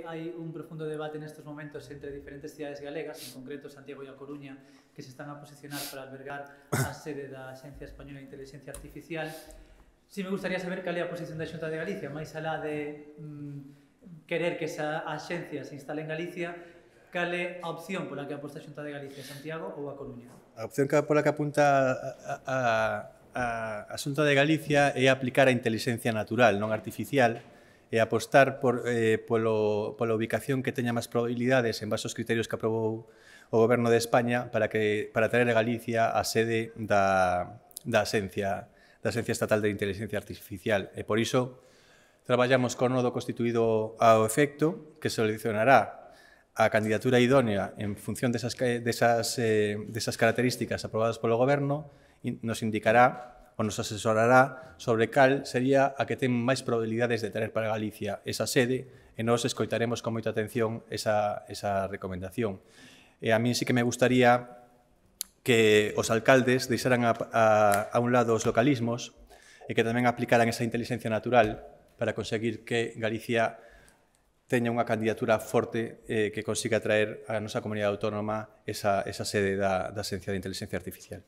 Hai un profundo debate nestes momentos entre diferentes cidades galegas, en concreto Santiago e A Coruña, que se están a posicionar para albergar a sede da Axencia Española de Inteligencia Artificial. Si me gustaría saber cal é a posición da Xunta de Galicia, máis alá de querer que esa axencia se instale en Galicia, cal é a opción pola que aposta a Xunta de Galicia, Santiago ou A Coruña? A opción pola que apunta a Xunta de Galicia é aplicar a inteligencia natural, non artificial, e apostar pola ubicación que teña máis probabilidades en base aos criterios que aprobou o Goberno de España para traer a Galicia a sede da Axencia Estatal de Inteligencia Artificial. E por iso traballamos con nodo constituído ao efecto que seleccionará a candidatura idónea en función desas características aprobadas polo Goberno e nos indicará ou nos asesorará sobre cal sería a que ten máis probabilidades de traer para Galicia esa sede e nós escoitaremos con moita atención esa recomendación. E a mí sí que me gustaría que os alcaldes deixaran a un lado os localismos e que tamén aplicaran esa inteligencia natural para conseguir que Galicia teña unha candidatura forte que consiga traer a nosa comunidade autónoma esa sede da Axencia de Inteligencia Artificial.